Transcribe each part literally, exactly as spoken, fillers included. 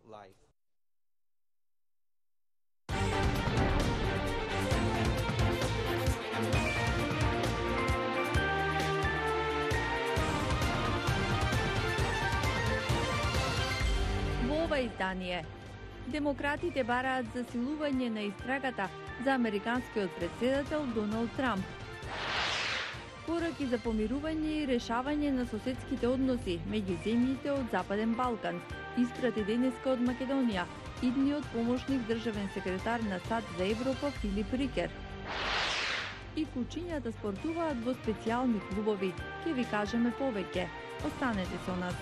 life. Во ова издание демократите бараат засилување на истрагата за американскиот претседател Доналд Трамп. Пораки за помирување и решавање на соседските односи меѓу земјите од Западен Балкан, испрати денеска од Македонија идниот помошник државен секретар на САД за Европа Филип Рикер. И кучињата спортуваат во специјални клубови. Ке ви кажеме повеќе. Останете со нас.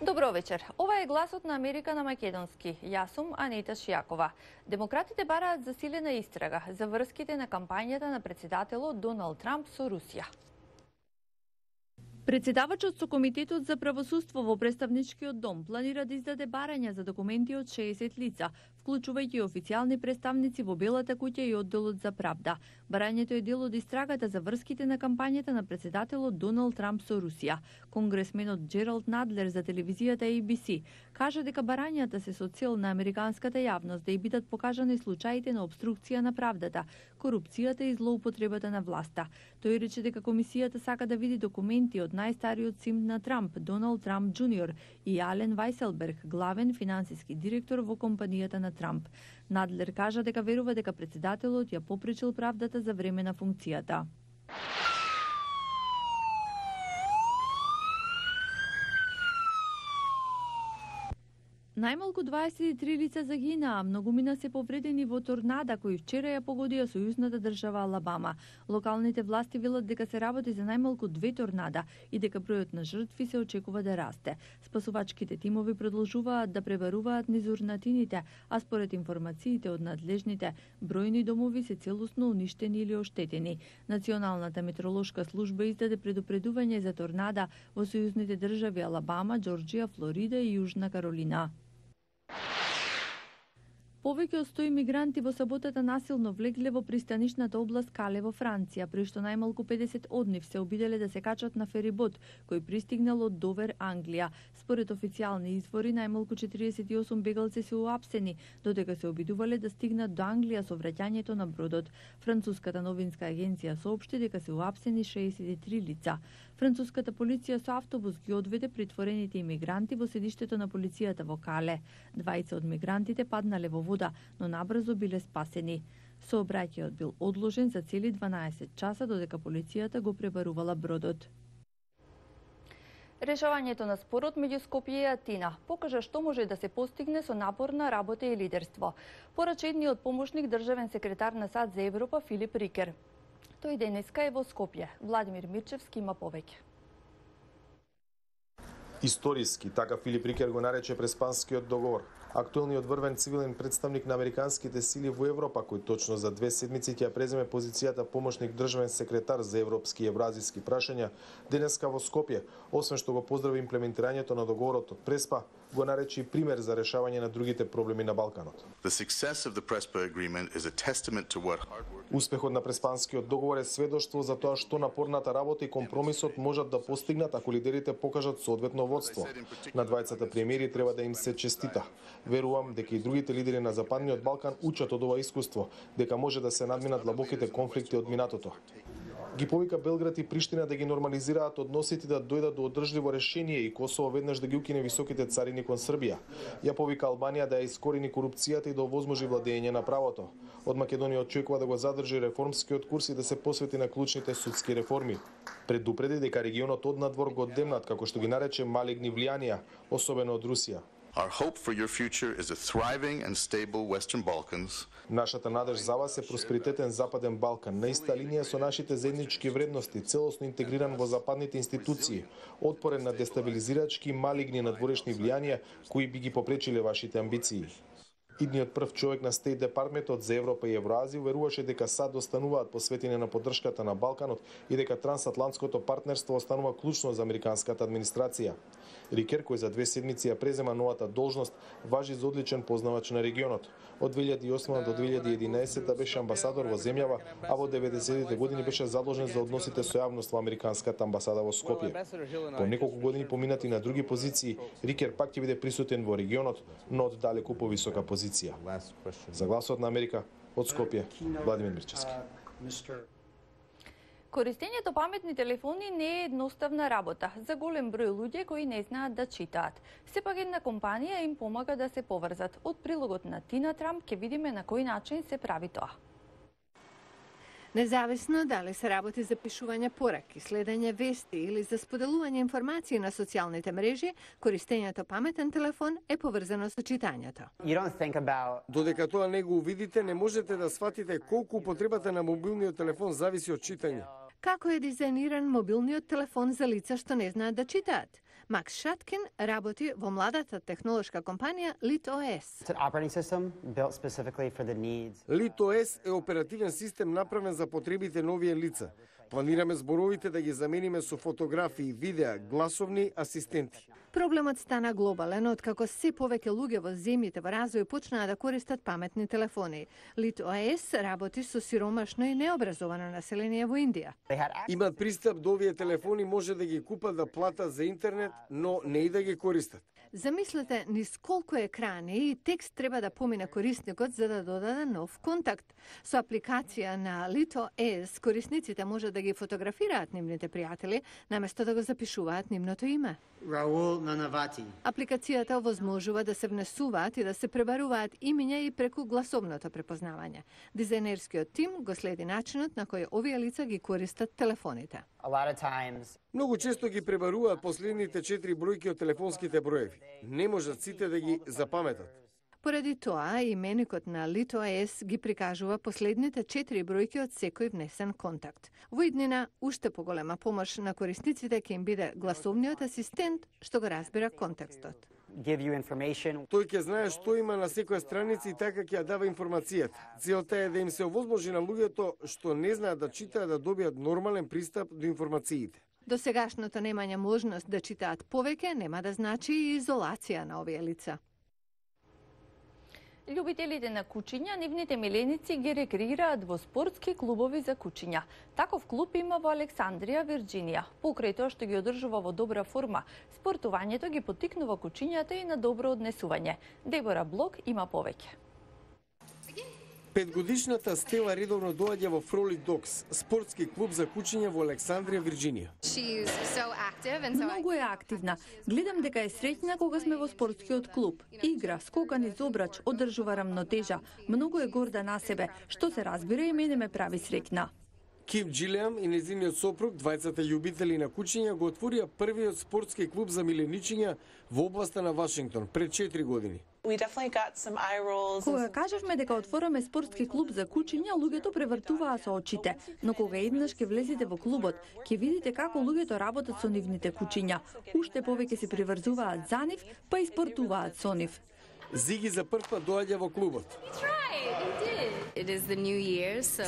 Добро вечер. Ова е гласот на Америка на македонски. Јас сум Анита Шијакова. Демократите бараат засилена истрага за врските на кампањата на претседателот Доналд Трамп со Русија. Председавачот со Комитетот за правосудство во Представничкиот дом планира да издаде барања за документи од шеесет лица, вклучувајќи официјални представници во Белата куќа и одделот за правда. Барањето е дел од истрагата за врските на кампањата на претседателот Доналд Трамп со Русија. Конгресменот Джералд Надлер за телевизијата А Би Си кажа дека барањата се со цел на американската јавност да ја бидат покажани случаите на обструкција на правдата, корупцијата и злоупотребата на власта. Тој рече дека комисијата сака да види документи од најстариот син на Трамп, Доналд Трамп Џуниор, и Ален Вајселберг, главен финансиски директор во компанијата на Трамп. Надлер кажа дека верува дека претседателот ја попречил правдата за време на функцијата. Најмалку дваесет и три лица загинаа, многумина се повредени во торнада кој вчера ја погодија сојузната држава Алабама. Локалните власти велат дека се работи за најмалку две торнада и дека бројот на жртви се очекува да расте. Спасувачките тимови продолжуваат да пребаруваат низ урнатините, а според информациите од надлежните, бројни домови се целосно уништени или оштетени. Националната метеоролошка служба издаде предупредување за торнада во сојузните држави Алабама, Џорџија, Флорида и Јужна Каролина. Повеќе од сто имигранти во саботата насилно влегле во пристанишната област Кале во Франција, при што најмалку педесет од нив се обиделе да се качат на ферибот, кој пристигнал од Довер, Англија. Според официјални извори, најмалку четириесет и осум бегалци се уапсени, додека се обидувале да стигнат до Англија со враќањето на бродот. Француската новинска агенција соопшти дека се уапсени шеесет и три лица. Француската полиција со автобус ги одведе притворените имигранти во седиштето на полицијата во Кале. Двајца од мигрантите паднале во вода, но набрзо биле спасени. Сообраќајот бил одложен за цели дванаесет часа додека полицијата го пребарувала бродот. Решавањето на спорот меѓу Скопје и Атина покажа што може да се постигне со напорна работа и лидерство, порача едниот помошник државен секретар на САД за Европа Филип Рикер. Тој денеска е во Скопје. Владимир Мирчевски има повеќе. Историски, така Филип Рикер го нарече Преспанскиот договор. Актуелниот врвен цивилен представник на американските сили во Европа, кој точно за две седмици ќе ја преземе позицијата помошник државен секретар за европски и евразиски прашања, денеска во Скопје, освен што го поздрави имплементирањето на договорот од Преспа, го нарече и пример за решавање на другите проблеми на Балканот. Успехот на Преспанскиот договор е сведоштво за тоа што напорната работа и компромисот можат да постигнат ако лидерите покажат соодветно водство. На двајцата премиери треба да им се честита. Верувам дека и другите лидери на Западниот Балкан учат од ова искуство, дека може да се надминат длабоките конфликти од минатото. Ги повика Белград и Приштина да ги нормализираат односите да дојдат до одржливо решение и Косово веднаш да ги укине високите царини кон Србија. Ја повика Албанија да ја искорени корупцијата и да овозможи владење на правото. Од Македонија очекува да го задржи реформскиот курс и да се посвети на клучните судски реформи. Предупреди дека регионот однадвор го демнат, како што ги нарече, малигни влијанија, особено од Русија. Our hope for your future is a thriving and stable Western Balkans. Нашата надеж за вас е просперитетен Западен Балкан, на иста линија со нашите заеднички вредности, целосно интегриран во западните институции, отпорен на дестабилизирачки малигни надворешни влијанија кои би ги попречиле вашите амбиции. Идниот прв човек на Стейт Департментот за Европа и Евроазија веруваше дека САД остануваат посветени на поддршката на Балканот и дека трансатлантското партнерство останува клучно за американската администрација. Рикер, кој за две седмици ја презема новата должност, важи за одличен познавач на регионот. Од две илјади и осма до две илјади и единаесетта беше амбасадор во земјава, а во деветдесетите години беше задолжен за односите со јавност во американската амбасада во Скопје. По неколку години поминати на други позиции, Рикер пак ќе биде присутен во регионот, но од далеку повисока позиција. За гласот на Америка, од Скопје, Владимир Мирчевски. Користењето паметни телефони не е едноставна работа за голем број луѓе кои не знаат да читаат. Сепак една компанија им помага да се поврзат. Од прилогот на Тина Трамп ќе видиме на кој начин се прави тоа. Независно дали се работи за пишување пораки, следење вести или за споделување информации на социјалните мрежи, користењето паметен телефон е поврзано со читањето. Додека тоа не го увидите, не можете да сватите колку употребата на мобилниот телефон зависи од читање. Како е дизајниран мобилниот телефон за лица што не знаат да читаат? Макс Шаткин работи во младата технолошка компанија LitOS. LitOS е оперативен систем направен за потребите на овие лица. Планираме зборовите да ги замениме со фотографии, видеа, гласовни асистенти. Проблемот стана глобален откако се повеќе луѓе во земјите во развој почнаа да користат паметни телефони. LitOS работи со сиромашно и необразовано население во Индија. Имат пристап до овие телефони, може да ги купат да платат за интернет, но не и да ги користат. Замислете низ колку екрани и текст треба да помине корисникот за да додаде нов контакт. Со апликација на LitOS корисниците може да ги фотографираат нивните пријатели, наместо да го запишуваат нивното име. Раул Нанавати. Апликацијата овозможува да се внесуваат и да се пребаруваат имиња и преку гласовното препознавање. Дизајнерскиот тим го следи начинот на кој овие лица ги користат телефоните. Многу често ги пребаруваат последните четири бројки од телефонските броеви. Не можат сите да ги запаметат. Поради тоа, именикот на LitOS ги прикажува последните четири бројки од секој внесен контакт. Во иднина, уште поголема помош на корисниците ќе им биде гласовниот асистент што го разбира контекстот. Тој ќе знае што има на секоја страница и така ќе ја дава информацијата. Целта е да им се овозможи на луѓето што не знаат да читаат да добијат нормален пристап до информациите. До сегашното немање можност да читаат повеќе нема да значи и изолација на овие лица. Љубителите на кучиња, нивните миленици ги рекреираат во спортски клубови за кучиња. Таков клуб има во Александрија, Вирџинија. Покрај тоа што ги одржува во добра форма, спортувањето ги поттикнува кучињата и на добро однесување. Дебора Блок има повеќе. Петгодишната Стела редовно доаѓа во Frolic Dogs, спортски клуб за кучиња во Александрија, Вирџинија. Многу е активна. Гледам дека е среќна кога сме во спортскиот клуб. Игра, скока низ обрач, одржува рамнотежа. Многу е горда на себе, што се разбира и мене ме прави среќна. Ким Джилиам и незиниот сопруг, двајцата љубители на кучиња, го отворија првиот спортски клуб за миленичиња во областа на Вашингтон пред четири години. Кога кажавме дека отвораме спортски клуб за кучиња, луѓето превртуваа со очите, но кога еднаш ќе влезете во клубот, ќе видите како луѓето работат со нивните кучиња. Уште повеќе се приврзуваат за нив, па и спортуваат со нив. Зиги за прв пат доаѓа во клубот.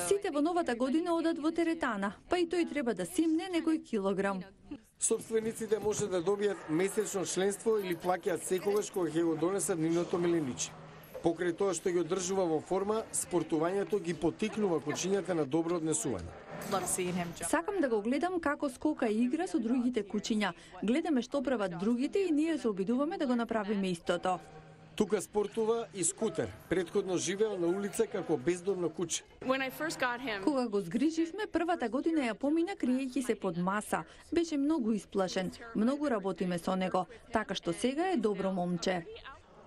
Сите во новата година одат во теретана, па и тој треба да симне некој килограм. Собствениците може да добијат месечно членство или плаќаат секогаш кога ќе го донесат нивното милениче. Покрај тоа што ги одржува во форма, спортувањето ги поттикнува кучињата на добро однесување. Сакам да го гледам како скока и игра со другите кучиња. Гледаме што прават другите и ние се обидуваме да го направиме истото. Тука спортува и Скутер. Претходно живеел на улица како бездомно куче. Кога го згриживме, првата година ја помина криејќи се под маса. Беше многу исплашен. Многу работиме со него, така што сега е добро момче.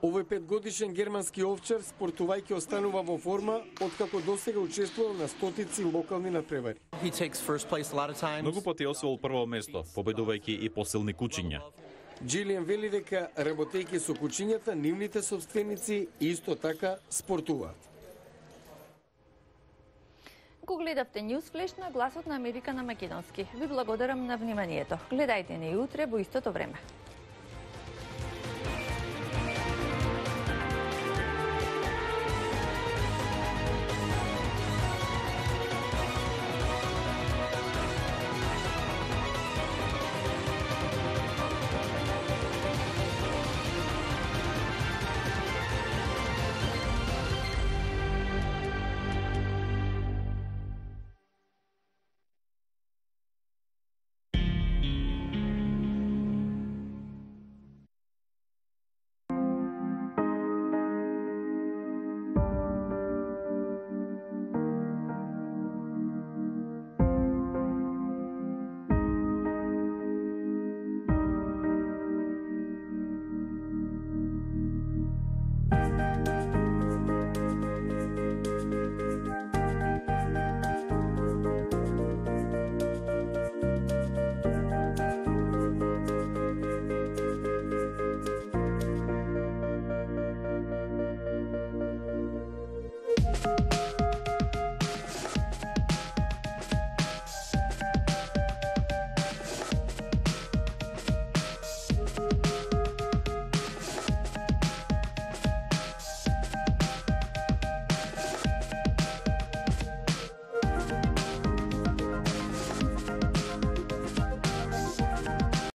Овој петгодишен германски овчар, спортувајќи, останува во форма, откако досега учествувал на стотици локални надпревари. Многу пати освоил прво место, победувајќи и посилни кучиња. Джилијан вели дека, работејќи со кучињата, нивните собственици исто така спортуваат. Го гледавте News Flash на Гласот на Америка на македонски. Ви благодарам на вниманието. Гледајте не и утре во истото време.